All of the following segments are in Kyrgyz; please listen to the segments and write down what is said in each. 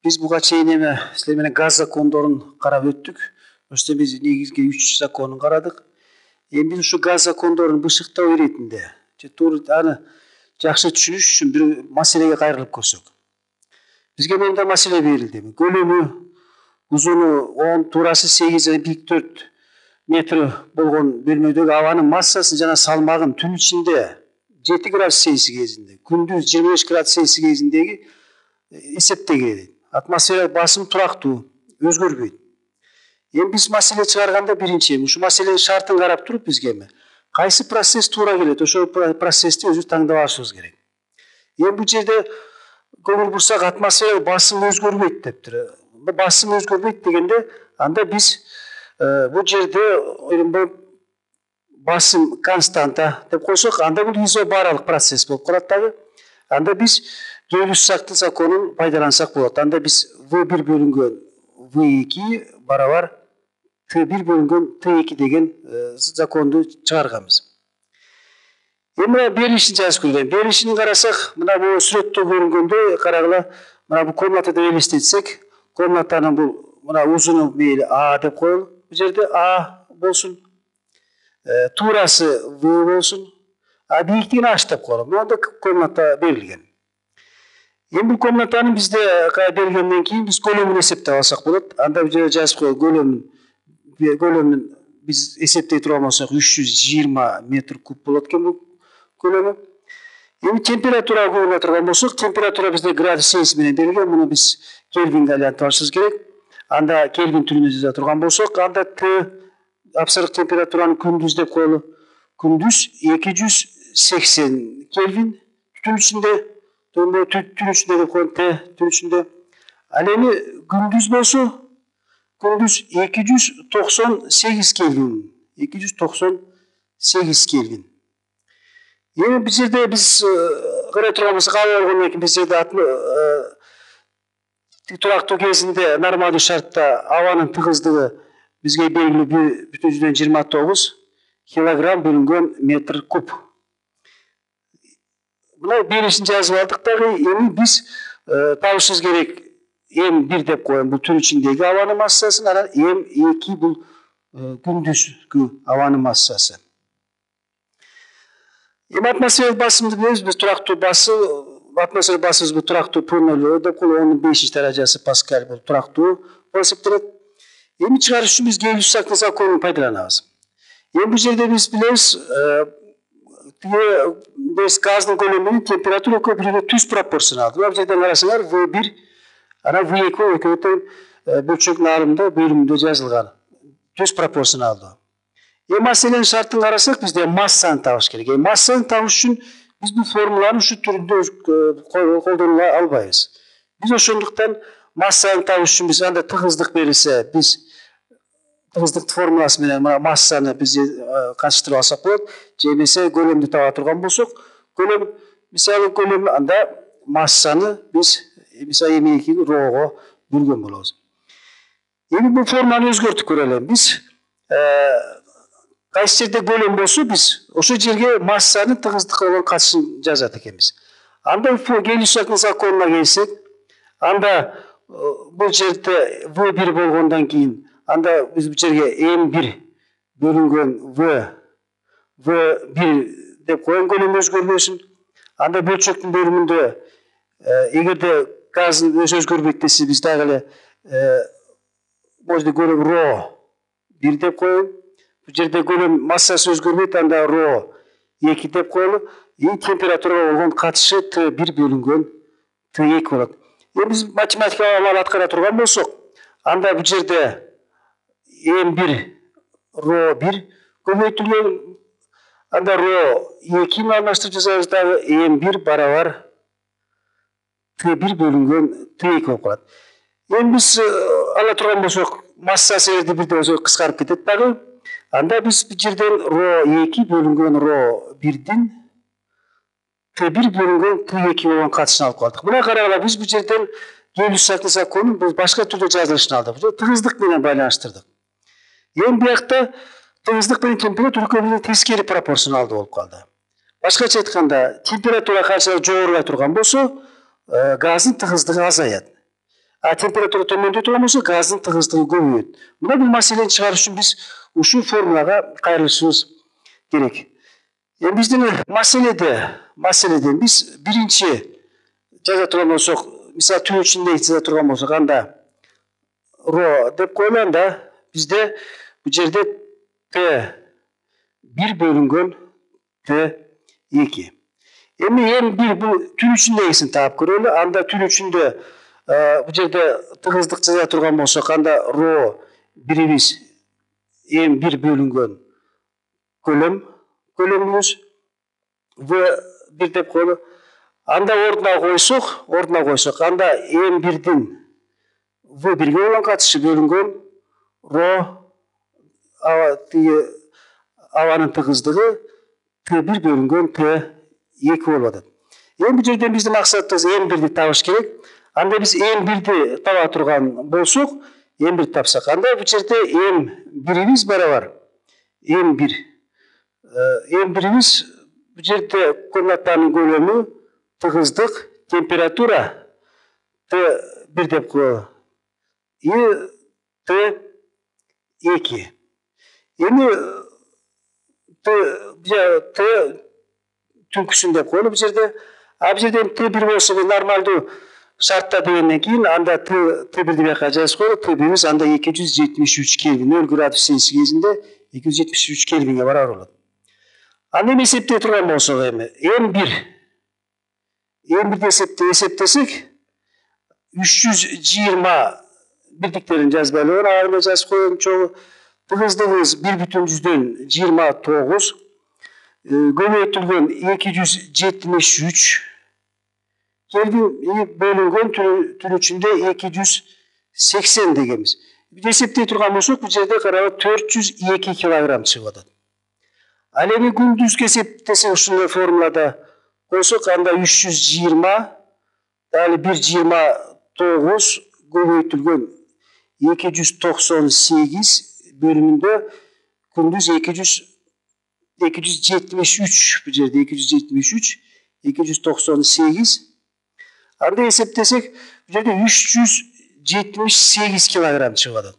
Biz buga чейин силер менен газ закондорун карап өттүк. Ошто биз негизги 3 законун карадык. Эми биз ушу газ закондорун бышыктоо иретинде аны жакшы түшүнүш үчүн бир маселеге кайрылып көрсөк. Бизге мындай маселе берилди. Көлөмү, узуну 10, туурасы 8, бийик 4 метр болгон бөлмөдөгү абанын массасын жана салмагын түн ичинде 7 градус Цельсий кезинде, күндүз 25 градус Цельсий кезиндеги эсептегиле. Атмосфералык басым турактуу, өзгөрбөйт. Эми биз маселе чыгарганда биринчи ушу маселенин шартын карап туруп бизге кайсы процесс туура келет, ошол процессти өзүбүз тандап алышыбыз керек. Эми бул жерде көңүл бурсак атмосфералык басым өзгөрбөйт дептир. Басым өзгөрбөйт дегенде анда биз бул жерде басым константа деп койсок, анда бул изобаралык процесс болуп калат дагы. Анда биз Гейлюс-Сактын законун пайдалансак болот. Анда биз V1 бөлүнгөн V2 барабар T1 бөлүнгөн T2 деген законду чыгарганбыз. Эми берилишин жазып көргөн. Берилишин карасак, мына бул сүрөттө көрүнгөндөй карагыла, мына бул комнатада элестетсек, комнатанын бул мына узуну мейли А деп коелу. Бул жерде А болсун. Туурасы В болсун. А бийиктигин H деп коелу. Монда комната берилген. Эми бул комнатанын бизде бергенден кийин биз көлөмүн эсептеп алсак болот. Анда бул жерде жазып коелу, көлөмүн биз эсептей турган болсок 320 метр куб болот экен бул көлөмү. Эми температурага көңүл турган болсок, температура бизде градус Цельсий менен берилген. Муну биз Кельвинге айлантып алышыбыз керек. Анда Кельвин түрүндө жаза турган болсок, анда Т абсолюттук температуранын күндүз деп коелу. Күндүз 280 Кельвин, түн ичинде түн ичинде деп коелу, Т түн ичинде. Ал эми күндүз болсо, күндүз 298 Кельвин. 298 Кельвин. Эми бул жерде биз карай турган болсок, аба болгондон кийин биз жерде турактуу кезинде нормалдуу шартта абанын тыгыздыгы бизге белгилүү 1,29 килограмм бөлүнгөн метр куб. Мына берилишин жазып алдык дагы. Эми биз табышыбыз керек М1 деп коем, бул түн ичиндеги абанын массасын, анан М2 бул күндүзгү абанын массасы. Эми атмосфералык басымды билебиз, биз турактуу басым, атмосфералык басымыбыз бул турактуу P0 деп коелу, онун 5 даражасы паскаль бул турактуу болуп эсептелет. Эми чыгарыш үчүн биз Гейлюс-Сактын законун пайдаланабыз. Эми бул жерде биз билебиз, газдын көлөмүнүн температура экөө бири түз пропорционалдуу. Бул жерден карасаңар V1 анан V2 экөө тең бөлчөктүн арымында бөлүмүндө жазылган. Түз пропорционалдуу. Эми маселенин шартын карасак, бизде массаны табыш керек. Массаны табыш үчүн биз бул формуланы ушу түрүндө колдоно албайбыз. Биз ошондуктан массаны табыш үчүн биз анда тыгыздык берилсе, биз тыгыздык формуласы менен массаны биз катыштырып алсак болот. Же эмесе көлөмдү таба турган болсок, көлөм анда массаны биз мисалы М2 рого бөлгөн болобуз. Эми бул формуланы өзгөртүп көрөлү. Биз кайсы жерде көлөм болсо, биз ошол жерге массанын тыгыздыкка болгон катышын жазат экенбиз. Анда Гейлюс-Сактын законуна келсек, анда бул жерде V1 болгондон кийин анда биз бул жерге М1 бөлүнгөн V1 деп коен, көлөм өзгөрбөсүн. Анда бөлчөктүн бөлүмүндө эгерде газдын өзгөрбөйт десе, биз дагы эле бул жерде көлөм ρ1 деп коелу. Бул жерде көлөм массасы өзгөрбөйт, анда ρ2 деп коелу. Температурага болгон катышы Т1 бөлүнгөн Т2 болот. Эми биз математикалык амал аткара турган болсок, анда бул жерде М1 ρ1 көбөйтүлгөн, анда ρ2 менен алмаштырып жазабыз дагы, М1 барабар Т1 бөлүнгөн Т2 болуп калат. Эми биз ала турган болсок, массасы эгерде бирдей болсо кыскарып кетет дагы. Анда биз бул жерден ρ2 бөлүнгөн ρ1дин Т1 бөлүнгөн Т2 болгон катышын алып калдык. Мына карагыла, биз бул жерден Гейлюс-Сактын законун биз башка түрдө жазылышын алдык. Тыгыздык менен байланыштырдык. Эми биякта тыгыздык менен температура экөө тескери пропорционалдуу болуп калды. Башкача айтканда, температура канчалык жогорулай турган болсо, газдын тыгыздыгы азаят. А температура төмөндөй турган болсо газдын тыгыздыгы көбөйөт. Мына бул маселени чыгарыш үчүн биз ушул формулага кайрылышыбыз керек. Эми биздин маселеде биз биринчи жаза турган болсок, мисалы түн ичинде жаза турган болсок, анда ро деп коелу, анда бизде бул жерде Т1 бөлүнгөн Т2. Эми М1 бул түн ичиндегисин таап көрөлү. Анда түн ичинде бул жерде тыгыздык жаза турган болсок, анда ро бирибиз М1 бөлүнгөн көлөмүбүз В1 деп коелу. Анда ордуна койсок, анда М1дин В1ге болгон катышы бөлүнгөн ро абанын тыгыздыгы Т1 бөлүнгөн Т2 болуп атат. Эми бул жерден биздин максатыбыз М1ди табыш керек. Анда биз М1ди таба турган болсок, М1 тапсак, анда бул жерде М1биз барабар М1биз бул жерде комнатанын көлөмү, тыгыздык, температура Т1 деп коелу. И Т2. Эми Т түнкүсүн деп коелу бул жерде. А бул жерде Т1 болсо нормалдуу шартта дегенден кийин анда Т1ди бияка жазып коелу. Т1биз анда 273 Кельвин, 0 градус Цельсий кезинде 273 Кельвинге барабар болот. Аны эми эсептей турган болсок, эми М1ди эсептесек 320 бирдиктерин жазбайлы, аны жазып коелу чогуу. Тыгыздыгыбыз 1,29, көбөйтүлгөн 273 Кельвин бөлүнгөн түн ичинде 280 дегенбиз. Биз эсептей турган болсок, бул жерде карабы 402 килограмм чыгып атат. Ал эми күндүзгү эсептесек, ушундай формулада койсок, анда 320 дали 1,29 көбөйтүлгөн 298 бөлүмүндө күндүз 273, бул жерде 298, анда эсептесек, бул жерде 378 килограмм чыгып атат.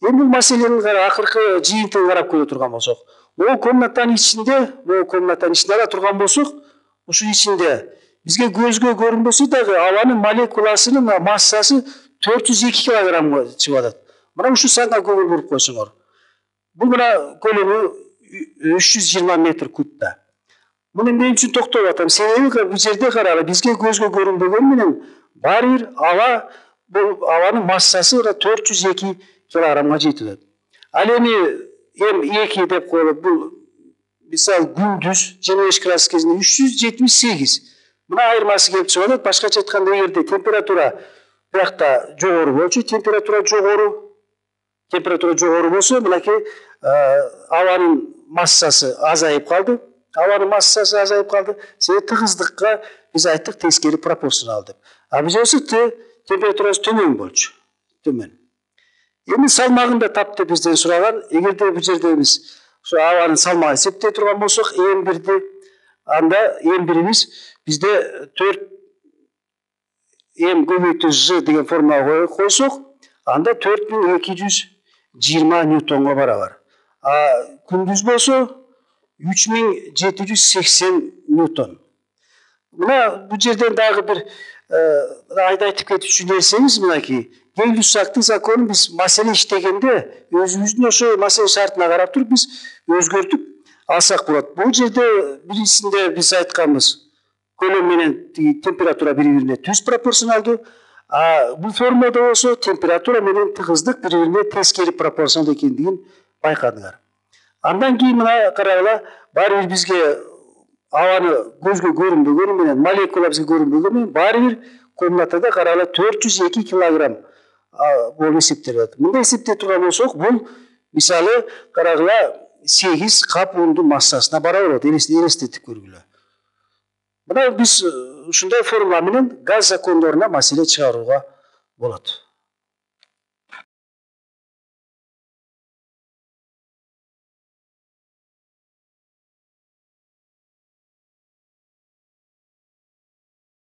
Эми бул маселенин акыркы жыйынтыгын карап көрө турган болсок, могу комнатанын ичинде ала турган болсок, ушул ичинде бизге көзгө көрүнбөсө дагы абанын молекуласынын массасы 402 килограммга чыгып атат. Мына ушул санга көңүл буруп койсоңор. Бул мына көлөмү 320 метр кубта. Муну эмне үчүн токтоп атам? Себеби бул жерде карагыла, бизге көзгө көрүнбөгөнү менен баары бир абанын массасы 402 килограммга жетип атат. Ал эми М2 деп коелу, бул мисалы күндүз 25 градус кезинде 378. Мына айырмасы келип чыгып атат. Башкача айтканда, эгерде температура биякта жогору болчу, температура жогору болсо, мынакей абанын массасы азайып калды. Себеби тыгыздыкка биз айттык тескери пропорционал деп. А бул жерде температурасы төмөн болчу. Эми салмагын да тап деп бизден сураган. Эгерде бул жерде биз ошо абанын салмагын эсептей турган болсок, М1ди, анда М1биз бизде 4 М көбөйтүү Ж деген формулага койсок, анда 4220 ньютонго барабар. А күндүз болсо 3780 ньютон. Мына бул жерден дагы бир айтып кетчү нерсеңиз, мынакей Гей-Люссактын законун биз маселе иштегенде өзүбүздүн ошо маселе шартына карап туруп биз өзгөртүп алсак болот. Бул жерде биринчисинде биз айтканбыз, көлөм менен температура бири-бирине түз пропорционалдуу. А бул формулада болсо температура менен тыгыздык бири-бирине тескери пропорционалдуу экендигин байкадыңар. Андан кийин мына карагыла, баары бир бизге абаны көзгө көрүнбөгөнү менен, молекула бизге көрүнбөгөнү менен, баары бир комнатада карагыла 402 килограмм болуп эсептелет. Мындай эсептей турган болсок, бул мисалы карагыла 8 кап ундун массасына барабар болот. Элестетип көргүлө. Мына биз ушундай формула менен газ закондоруна маселе чыгарууга болот.